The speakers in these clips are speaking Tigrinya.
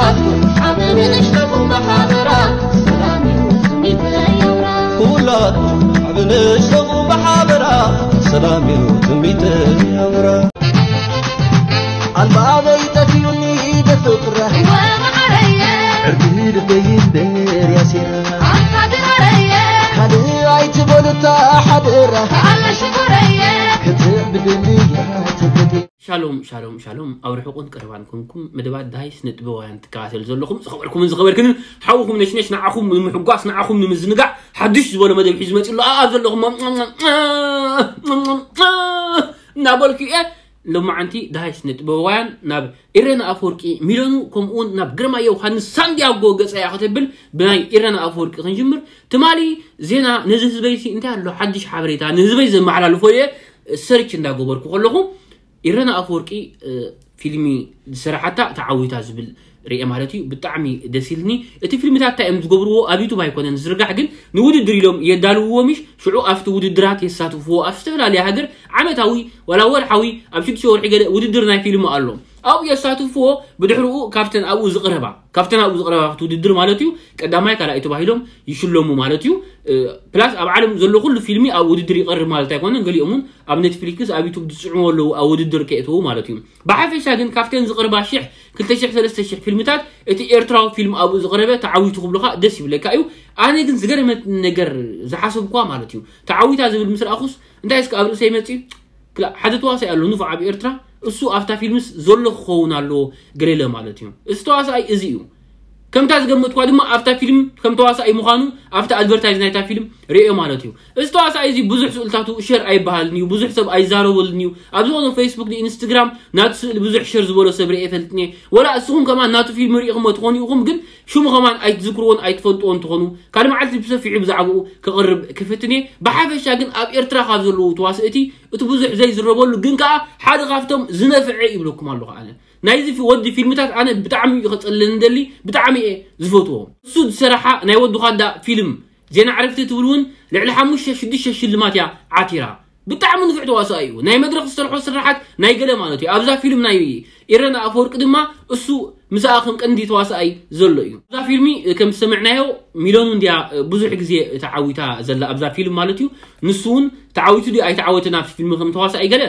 ዓቢ ንእሽተኹም ብሓበራ ሰላም እዩ ትምኒተይ ኣውራ። ኩላትኩም ዓቢ ንእሽተኹም ብሓበራ ሰላም እዩ ትምኒተይ ኣውራ። ኣልባበይ ጠፊኡኒ ደፍጥረ ወመዓረየ ዕርዲ ልበይ እምበር ያሲራ ኣንታ ድሃረየ ካልእ ኣይትበሉታ ሓደራ ኣለ ሽኮረየ ክትዕብድኒ እያ ትብዲ። ሻሎም ሻሎም ሻሎም፣ ኣብ ርሑቕን ቀረባን ኮንኩም መደባት ዳሃይ ስነ ጥበባውያን ትከታተሉ ዘለኹም ዝኸበርኩምን ዝኸበርክንን ሓውኹም ነሽነሽ ንዓኹም ንምሕጓስ ንዓኹም ንምዝንጋዕ ሓድሽ ዝበሎ መደብ ሒዙ መፂኡ ኣሎ። ኣብ ዘለኹም እናበልኩ እየ። ሎማዓንቲ ዳሃይ ስነ ጥበባውያን ናብ ኢረና ኣፈወርቂ ሚለኑ ከምኡውን ናብ ግርማ ዮሃንስ ሳንዲያጎ ገፀ እያ ከተብል። ብናይ ኢረና ኣፈወርቂ ክንጅምር። ትማሊ ዜና ነዚ ህዝበይሲ እንታይ ኣሎ ሓድሽ ሓበሬታ ንህዝበይ ዘመሓላልፎ እየ ሰርች እንዳገበርኩ ከለኹ ኢረና ኣፈወርቂ ፊልሚ ዝሰራሓታ ተዓዊታ ዝብል ርኤ ማለት እዩ። ብጣዕሚ ደስ ኢልኒ። እቲ ፊልምታት እንታይ እዮም ዝገብርዎ ኣብ ዩቱብ ኣይኮነን ዝርጋሕ፣ ግን ንውድድር ኢሎም የዳልውዎ ምሽ ሽዑ ኣብቲ ውድድራት የሳትፍዎ ኣብ ዝተፈላለየ ሃገር ዓመታዊ ዋላ ወርሓዊ ኣብ ሽዱሽተ ወርሒ ገለ ውድድር ናይ ፊልም ኣሎ ኣብኡ የሳትፍዎ። ብድሕርኡ ካብተን ኣብኡ ዝቕረባ ካብተን ኣብኡ ዝቕረባ ውድድር ማለት እዩ ቀዳማይ ካልኣይ ተባሂሎም ይሽለሙ ማለት እዩ። ፕላስ ኣብ ዓለም ዘሎ ኩሉ ፊልሚ ኣብ ውድድር ይቐርብ ማለት ኣይኮነን። ገሊኦም እውን ኣብ ኔትፍሊክስ ኣብ ዩቱብ ዝፅዕሙ ኣለዉ ኣብ ውድድር ከእተዉ ማለት እዩ። ብሓፈሻ ግን ካብተን ዝቕርባ ሽሕ ክልተ ሽሕ ሰለስተ ሽሕ ፊልምታት እቲ ኤርትራዊ ፊልም ኣብኡ ዝቕረበ ተዓዊቱ ክብሉኻ ደስ ይብለካ እዩ። ኣነ ግን ዝገርመት ነገር ዝሓሰብኳ ማለት እዩ ተዓዊታ ዝብል ምስ ረኣኹስ እንታይ እስከ ኣብ ርእሰይ መፅእ ክላ ሓደ ተዋሳኢ ኣሎ ንፉዕ ኣብ ኤርትራ እሱ ኣብታ ፊልምስ ዘሎ ክኸውን ኣለዎ ገሌለ ማለት እዩ። እዚ ተዋሳኣይ እዚ እዩ። ከምታ ዝገመትኳ ድማ ኣብታ ፊልም ከም ተዋሳኣይ ምዃኑ ኣብታ ኣድቨርታይዝ ናይታ ፊልም ርእዮ ማለት እዩ። እዚ ተዋሳኣይ እዚ ብዙሕ ስእልታቱ ሸር ኣይበሃልን እዩ፣ ብዙሕ ሰብ ኣይዛረበልን እዩ። ኣብ ዝኾነ ፌስቡክ ኢንስትግራም ናቱ ስእሊ ብዙሕ ሸር ዝበሎ ሰብ ርእየ ፈልጥኒ። ወላ እስኹም ከማን ናቱ ፊልም ርኢኹሞ ትኾኑ ኢኹም፣ ግን ሽሙ ከማን ኣይትዝክርዎን ኣይትፈልጥዎን ትኾኑ። ካልእ መዓልቲ ብሰፊሑ ብዛዕባኡ ክቕርብ ክፍትን እየ። ብሓፈሻ ግን ኣብ ኤርትራ ካብ ዘለዉ ተዋስእቲ እቲ ብዙሕ ዘይዝረበሉ ግን ከኣ ሓደ ካብቶም ዝነፍዐ ይብለኩም ኣለኹ ኣነ። ናይዚ ፊ- ወዲ ፊልምታት ኣነ ብጣዕሚ እዩ ከጸልለኒ ደሊ፣ ብጣዕሚ እየ ዝፈትዎ። እሱ ዝሰራሓ ናይ ወዲ ኳዳ ፊልም ዜና ዕረፍቲ ትብል እውን ልዕሊ ሓሙሽተ ሽዱሽተ ሽልማት እያ ዓቲራ። ብጣዕሚ ንፉዕ ተዋሳኣይ እዩ። ናይ መድረኽ ዝሰርሖ ስራሓት ናይ ገለ ማለት እዩ። ኣብዛ ፊልም ናይ ኢረና ኣፈወርቂ ድማ እሱ ምስኣ ከም ቀንዲ ተዋሳኣይ ዘሎ እዩ። ኣብዛ ፊልሚ ከም ዝሰምዕናዮ ሚለኑ እንድያ ብዙሕ ግዜ ተዓዊታ ዘላ ኣብዛ ፊልም ማለት እዩ። ንሱ እውን ተዓዊቱ ድዩ ኣይተዓወተን ኣብቲ ፊልም ከም ተዋሳኣይ ገለ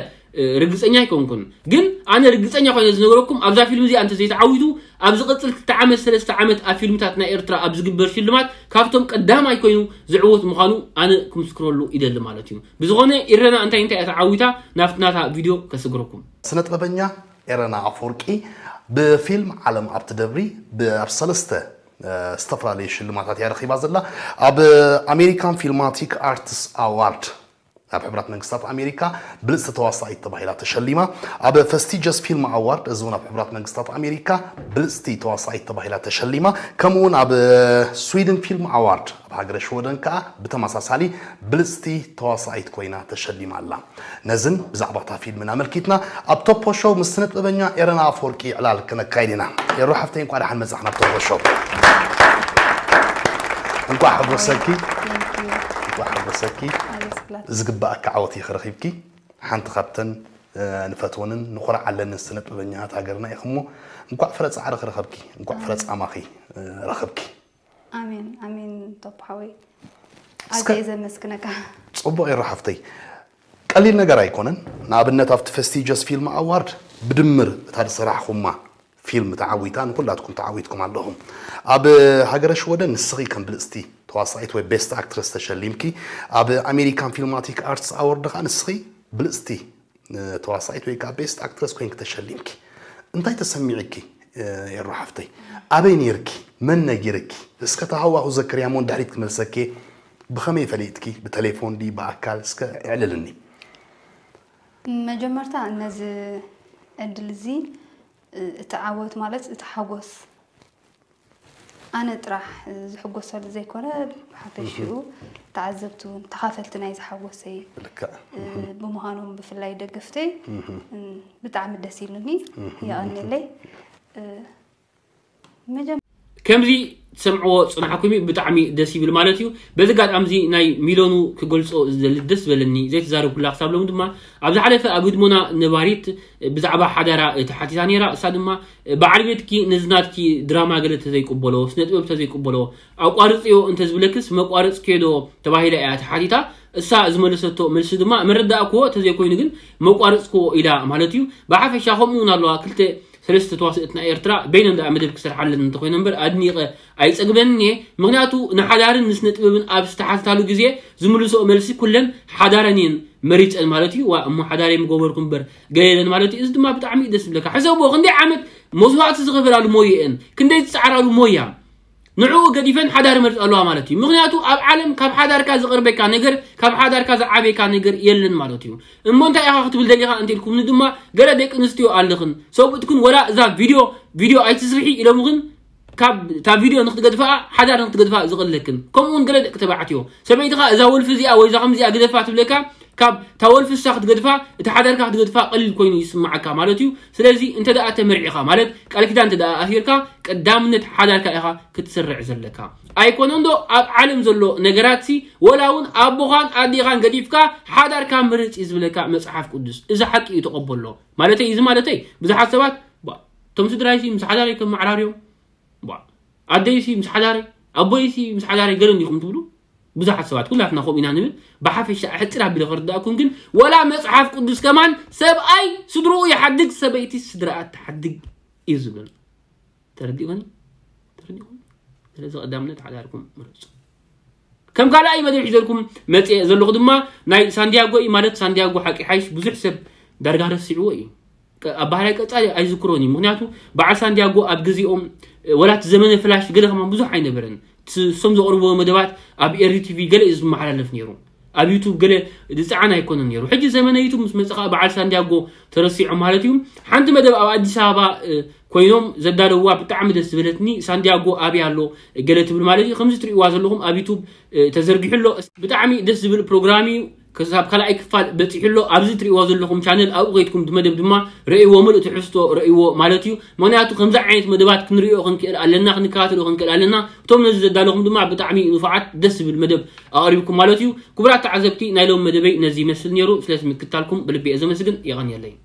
ርግፀኛ ኣይኮንኩን። ግን ኣነ ርግፀኛ ኮይነ ዝነገረኩም ኣብዛ ፊልም እዚኣ እንተዘይተዓዊቱ ኣብ ዝቐፅል ክልተ ዓመት ሰለስተ ዓመት ኣብ ፊልምታት ናይ ኤርትራ ኣብ ዝግበር ሽልማት ካብቶም ቀዳማይ ኮይኑ ዝዕወት ምዃኑ ኣነ ክምስክረሉ ይደሊ ማለት እዩ። ብዝኾነ ኢረና እንታይ እንታይ እያ ተዓዊታ ናብቲ ናታ ቪድዮ ከስግረኩም። ስነ ጥበበኛ ኤረና ኣፈወርቂ ብፊልም ዓለም ኣብ ትደብሪ ብ- ኣብ ሰለስተ እ፣ ዝተፈላለዩ ሽልማታት እያ ረኺባ ዘላ። ኣብ ኣሜሪካን ፊልማቲክ ኣርትስ ኣዋርድ ኣብ ሕቡራት መንግስታት ኣሜሪካ ብልፅቲ ተዋሳኢት ተባሂላ ተሸሊማ። ኣብ ፈስቲጀስ ፊልም ኣዋርድ እዚ እውን ኣብ ሕቡራት መንግስታት ኣሜሪካ ብልፅቲ ተዋሳኢት ተባሂላ ተሸሊማ። ከምኡ እውን ኣብ ስዊድን ፊልም ኣዋርድ ኣብ ሃገረ ሽወደን ከዓ ብተመሳሳሊ ብልፅቲ ተዋሳኢት ኮይና ተሸሊማ ኣላ። ነዝን ብዛዕባ እታ ፊልምን ኣመልኪትና ኣብ ቶፖ ሾው ምስ ስነ ጥበበኛ ኤረና ኣፈወርቂ ዕላል ክነካይድ ኢና። ኤሮ ሓፍተይ እንኳዕ ደሓን መጻኽ ናብ ቶፖ ሾው። እንኳዕ ሓጎሰኪ። Thank you። እንኳዕ ሓጎሰኪ። ኣመስግናለሁ። ዝግባኣካ ዓወት እዩ ክረኺብኪ። ሓንቲ ካብተን እ፣ ንፈትወንን ንኹርዓለንን ስነ ጥበበኛታት ሃገርና ኢኹሞ። እንኳዕ ፍረ ጻዕሪ ክረኸብኪ፣ እንኳዕ ፍረ ጻማኺ እ፣ ረኸብኪ። ኣሜን ኣሜን። ቶፖ ሓወይ ኣዝየ እየ ዘመስግነካ። ጽቡቕ ኤሮ ሓፍተይ። ቀሊል ነገር ኣይኮነን። ንኣብነት ኣብቲ ፈስቲጀስ ፊልም ኣዋርድ ብድምር እታ ዝሰራሕኹማ ፊልም ተዓዊታ ንኩላትኩም ተዓዊትኩም ኣለኹም። ኣብ ሃገረ ሽወደን ንስኺ ከም ብልጽቲ ተዋሳኢት ወይ ቤስት ኣክትረስ ተሸሊምኪ። ኣብ ኣሜሪካን ፊልማቲክ ኣርትስ ኣዋርድ ኸኣ ንስኺ ብልጽቲ ተዋሳኢት ወይ ከዓ ቤስት ኣክትረስ ኮይንኪ ተሸሊምኪ እንታይ ተሰሚዕኪ? ኤሮ ሓፍተይ ኣበይ ነይርኪ? መን ነጊርኪ? እስከ ተሃዋኹ ዘክርያ እሞ ንድሕሪት ክመልሰኪ። ብኸመይ ፈሊጥኪ? ብቴሌፎን ድዩ ብኣካል? እስከ ኣዕልልኒ። መጀመርታ ነዚ ዕድል እዚ እቲ ዓወት ማለት እቲ ሓጎስ ኣነ ጥራሕ ዝሕጎሰሉ ዘይኮነ ብሓፈሽኡ ተዓዘብቲ እውን ተኻፈልቲ ናይ ዝሓጎሰይ ልክዕ ብምዃኖም ብፍላይ ደገፍተይ ብጣዕሚ ደስ ኢሉኒ። የቐንየለይ። መጀመ- ከምዚ ሰምዕዎ ጽናሕኩም እዩ፣ ብጣዕሚ ደስ ይብል ማለት እዩ። በዚ ኣጋጣሚ እዚ ናይ ሚሎኑ ክገልጾ ዝደሊ ደስ ዝበለኒ ዘይተዛረብኩላ ክሳብ ሎም ድማ ኣብ ዝሓለፈ ኣብ ህድሞና ነባሪት ብዛዕባ ሓዳራ ተሓቲታ ነይራ። እሳ ድማ በዓል ቤትኪ ነዚ ናትኪ ድራማ ገለ ተዘይቅበሎ፣ ስነ ጥበብ ተዘይቅበሎ ኣቋርጽዮ እንተዝብለክስ መቋረጽክዮ ዶ ተባሂላ እያ ተሓቲታ። እሳ ዝመለሰቶ መልሲ ድማ መረዳእክዎ ተዘይኮይኑ ግን መቋረጽክዎ ኢላ ማለት እዩ። ብሓፈሻ ከምኡ እውን ኣለዋ ክልተ ሰለስተ ተዋስእትና ኤርትራ በይነን ደኣ መደብ ክሰርሓለን እንተኮይነ እምበር ኣድኒቐ ኣይጸግበንን እየ። ምክንያቱ ንሓዳርን ንስነ ጥበብን ኣብ ዝተሓትታሉ ግዜ ዝምልሶ መልሲ ኩለን ሓዳረን እየን መሪጸን ማለት እዩ። ዋ እሞ ሓዳር የምገበርኩ እምበር ገለ የለን ማለት እዩ። እዚ ድማ ብጣዕሚ እዩ ደስ ዝብለካ። ሕሰብዎ ክንደይ ዓመት መስዋእቲ ዝኸፈላሉ ሞየአን ክንደይ ዝጸዓራሉ ሞያ ንዕኡ ገዲፈን ሓዳር ይመርጻ ኣለዋ ማለት እዩ። ምክንያቱ ኣብ ዓለም ካብ ሓዳርካ ዝቐርበካ ነገር ካብ ሓዳርካ ዝዓበየካ ነገር የለን ማለት እዩ። እሞ እንታይ ኢኻ ክትብል ደሊኻ እንተልኩም ድማ ገለ ደቂ ኣንስትዮ ኣለኽን ሰብኡትክን ወላ እዛ ቪድዮ ቪድዮ ኣይትስርሒ ኢሎምኽን ካብ እታ ቪድዮ ንክትገድፋ ሓዳር ንክትገድፋ ዝቕለክን ከምኡ እውን ገለ ደቂ ተባዕትዮ ሰበይትኻ እዛ ወልፊ እዚኣ ወይ እዛ ከምዚኣ ግደፋ ትብለካ ካብ እታ ወልፊ እሳ ክትገድፋ እቲ ሓዳርካ ክትገድፋ ቀሊል ኮይኑ ይስምዓካ ማለት እዩ። ስለዚ እንተ ደኣ ተመርዒኻ ማለት ቃል ኪዳን እንተ ደኣ ኣሲርካ ቀዳምነት ሓዳርካ ኢኻ ክትስርዕ ዘለካ። ኣይኮነን ዶ ኣብ ዓለም ዘሎ ነገራት ሲ ወላ እውን ኣቦኻን ኣዴኻን ገዲፍካ ሓዳርካ ምርጽ እዩ ዝብለካ መጽሓፍ ቅዱስ። እዚ ሓቂ እዩ ተቐበሎ። ማለተይ እዚ ማለተይ ብዙሓት ሰባት ባ እቶም ስድራይ ሲ ምስ ሓዳረይ ከመዓራርዮም ባ ኣደይ ሲ ምስ ሓዳረይ ኣቦይ ሲ ምስ ሓዳረይ ገለ እንዲኹም ትብሉ ብዙሓት ሰባት ኩላትና ከምኡ ኢና ንብል። ብሓፈሻ ሕጽር ኣቢለ ከርዳእኩም ግን ወላ መጽሓፍ ቅዱስ ከማን ሰብኣይ ስድርኡ ይሓድግ ሰበይቲ ስድራኣ ትሓድግ እዩ ዝብል። ተረዲእኩኒ? ተረዲእኩም? ስለዚ ቀዳምነት ሓዳርኩም ምረጹ። ከም ካልኣይ መደብ ሒዘልኩም መጽእ ዘለኹ ድማ ናይ ሳንዲያጎ እዩ። ማለት ሳንዲያጎ ሓቂ ሓይሽ ብዙሕ ሰብ ዳርጋ ረሲዕዎ እዩ። ቀ- ኣብ ባህራይ ቀጻሊ ኣይዝክሮን እዩ። ምክንያቱ በዓል ሳንዲያጎ ኣብ ግዜኦም እ፣ ወላት ዘመነ ፍላሽ ገለ ከማን ብዙሕ ኣይነበረን። ስ- እሶም ዘቕርብዎ መደባት ኣብ ኤሪ ቲቪ ገለ እዩ ዝመሓላለፍ ነይሩ። ኣብ ዩቱብ ገለ ዝፀዓን ኣይኮነን ነይሩ። ሕጂ ዘመነ ዩቱብ ምስ መፀ ከዓ በዓል ሳንዲያጎ ተረሲዖ ማለት እዩ። ሓንቲ መደብ ኣብ ኣዲስ ኣበባ እ፣ ኮይኖም ዘዳለውዋ ብጣዕሚ ደስ ዝበለትኒ። ሳንዲያጎ ኣበይ ኣሎ ገለ ትብል ማለት እዩ። ከምዚ ትርእይዋ ዘለኹም ኣብ ዩቱብ እ፣ ተዘርጊሑ ኣሎ። ብጣዕሚ ደስ ዝብል ፕሮግራም እዩ። ክሳብ ካልኣይ ክፋል በፂሑ ኣሎ። ኣብዚ ትርእይዎ ዘለኹም ቻነል ኣብኡ ከይድኩም መደብ ድማ ረእይዎ፣ ምሉእ ትሕዝቶ ረእይዎ ማለት እዩ። ምክንያቱ ከምዚ ዓይነት መደባት ክንርእዮ ክንክእል ኣለና፣ ክንከታተሎ ክንክእል ኣለና። እቶም ነዚ ዘዳለኹም ድማ ብጣዕሚ ንፉዓት ደስ ዝብል መደብ ኣቕሪብኩም ማለት እዩ። ክቡራት ተዓዘብቲ ናይ ሎም መደበይ ነዚ ይመስል ነይሩ። ስለዚ ምክታልኩም ብልቢ እየ ዘመስግን። የቐንየለይ።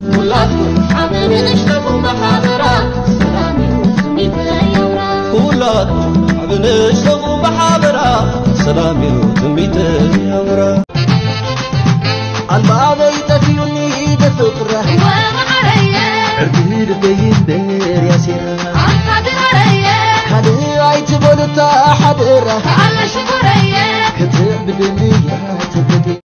ኩላትኩም ዓቢ ንእሽተኹም ብሓበራ ሰላም እዩ ትምኒተይ ኣውራ። ኩላትኩም ዓቢ ንእሽተኹም ብሓበራ ሰላም እዩ ትምኒተይ ኣውራ። ኣልባበይ ጠፊኡኒ ብፍቕራ ወመዓረየ ዕርዲ ልበይ እምበር ያሲራ ኣንታ ድሃረየ ካልእ ኣይትበሉታ ሓደራ